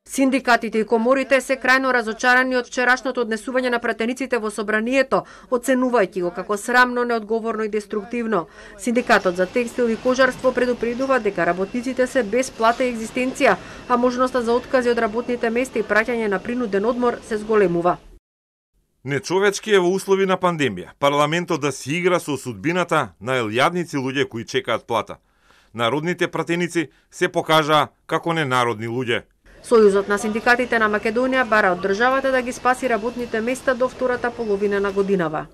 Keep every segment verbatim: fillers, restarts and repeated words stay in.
Синдикатите и коморите се крајно разочарани од вчерашното однесување на пратениците во собранието, оценувајќи го како срамно, неодговорно и деструктивно. Синдикатот за текстил и кожарство предупредува дека работниците се без плата и екзистенција, а можноста за откази од работните места и праќање на принуден одмор се зголемува. Нечовечки е во услови на пандемија парламентот да си игра со судбината на елјадници луѓе кои чекаат плата. Народните пратеници се покажаа како ненародни луѓе. Сојузот на синдикатите на Македонија бара од државата да ги спаси работните места до втората половина на годинава.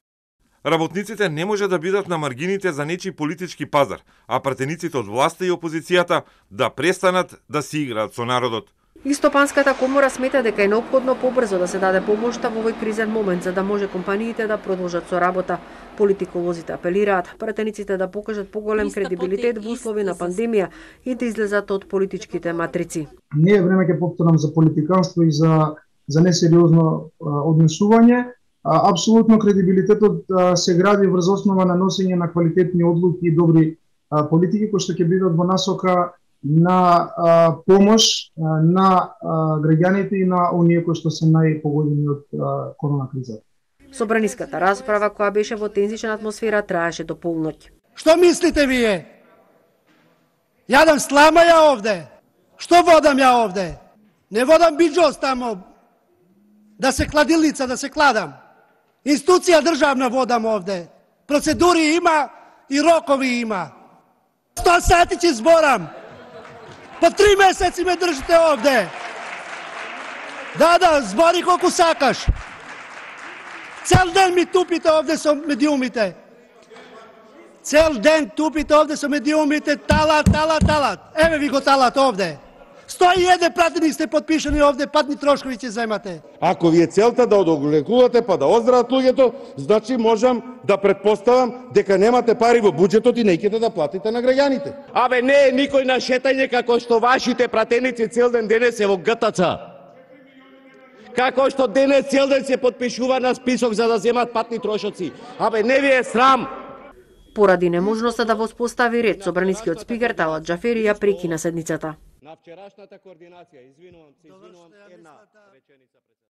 Работниците не може да бидат на маргините за нечи политички пазар, а пратениците од власта и опозицијата да престанат да си играат со народот. Истопанската комора смета дека е неопходно побрзо да се даде помошта во овој кризен момент за да може компаниите да продолжат со работа. Политиколозите апелираат пратениците да покажат поголем кредибилитет во услови на пандемија и да излезат од политичките матрици. Не е време ќе повторам за политиканство и за за несериозно однесување. Апсолутно кредибилитетот се гради врз основа на носење на квалитетни одлуки и добри политики кои што ќе бидат во насока на а, помош а, на а, граѓаните и на оние кои што се најпогодени од а, корона кризата. Собраниската расправа која беше во тензична атмосфера траеше до полноќ. Што мислите вие? Јадам слама ја овде. Што водам ја овде? Не водам биджос тамо. Да се кладилница, да се кладам. Институција државна водам овде. Процедури има и рокови има. сто сати ќе зборам. По три месеци ме држите овде. Да, да, збори колку сакаш. Цел ден ми тупите овде со медиумите. Цел ден тупите овде со медиумите, талат, талат, талат. Еве ви го талат овде. сто и еден пратеник сте подпишани овде, патни трошкови ќе земате. Ако ви е целта да одолекувате па да оздрават луѓето, значи можам да претпоставам дека немате пари во буџетот и неќете да платите на граѓаните. Абе не е никој на шетање како што вашите пратеници цел ден денес е во ГТЦ. Како што денес цел ден се подпишува на список за да земат патни трошоци. Абе не ви е срам. Поради неможноста да воспостави ред, собранискиот спикер Талат Џафери ја прекина седницата. На вчерашната координација, извинувам се, извинувам една реченица.